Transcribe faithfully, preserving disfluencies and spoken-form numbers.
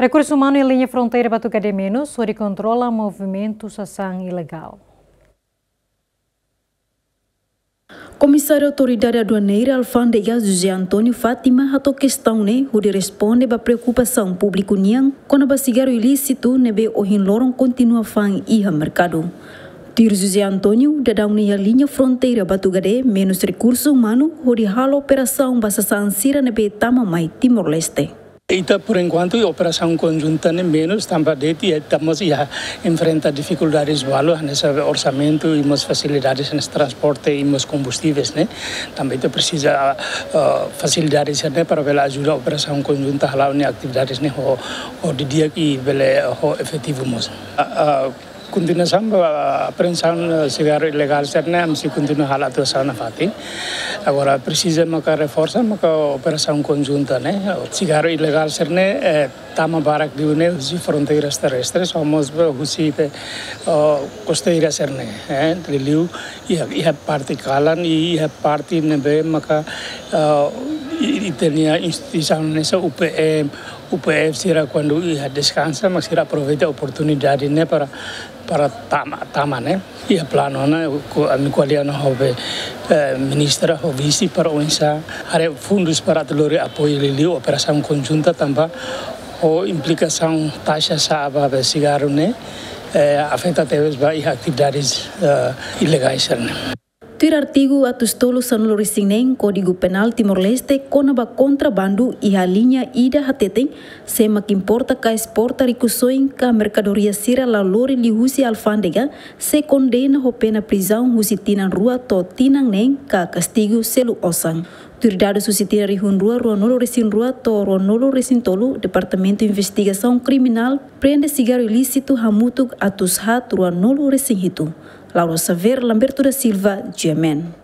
Rekursu umanu iha liña fronteira Batugade Menus hodi kontrola movimentu sasán ilegál. Komisáriu Autoridade Aduaneira Alfándega José António Fátima hato'o kestaun ne'e hodi responde ba preokupasaun públiku nian kona-ba sigarru ilísitu ne'ebé ohin loron kontinua fa'an iha merkadu. Tuir José António, daudaun ne'e iha liña fronteira Batugade Menus rekursu umanu hodi halo operasaun ba sasán sira ne'ebé tama mai Timor-Leste. Ita, por enkuantu, operasaun konjunta ne'e menus, tanba de'it ita mós iha enfrenta difikuldades balu, hanesan orsamentu, i mós fasilidades, hanesan transporte, i mós kombustíveis, ne'e. Tanba ita presiza, ah, ah, fasilidades ne'e para bele ajuda operasaun konjunta hala'o nia atividades ne'e ho, ho di'ak i bele ho efetivu mós. Ah, ah, Kontinuasaun ba apreensaun, eh, sigarru ilegál sira-ne'e, ami sei kontinua halo atuasaun nafatin. Agora presiza maka reforsa maka operasaun konjunta ne'e. Sigarru ilegál sira-ne'e, eh, tama barak liu ne'e husi fronteiras terrestres, ou mós ba husi, eh, kosteira sira-ne'e, eh, liuliu iha, iha parte kalan, i iha parte ne'ebé maka, eh, i, i ita-nia instituisaun hanesan U P M, U P F sira kuandu iha deskansa, mak sira aproveita oportunidade ne'e para, para tama, tama ne'e. Iha planu ne'e, ami ko'alia ona ho be, eh, ministra, ho vise para oinsá haree fundus para atu lori apoiu liuliu operasaun konjunta tanba ho implikasaun taxa sa'e ba be sigarru ne'e, eh, afeta tebes ba iha atividades, eh, ilegais sira-ne'e. Tuir artigu atus tolu sanulu-resin-neen Kódigu Penál Timor-Leste kona-ba kontrabandu iha liña ida hateten, sé mak importa ka esporta rikusoin ka merkadoria sira la lori liuhusi alfándega, sei kondena ho pena prizaun husi tinan rua to'o tinan neen ka kastigu selu osan. Tuir dadus husi tinan rihun rua ruanulu-resin-rua to'o ruanulu-resin-tolu, Departamentu Investigasaun Kriminál prende sigarru ilísitu hamutuk atus haat ruanulu-resin-hitu. Laura Xavier, Lamberto da Silva, G M N.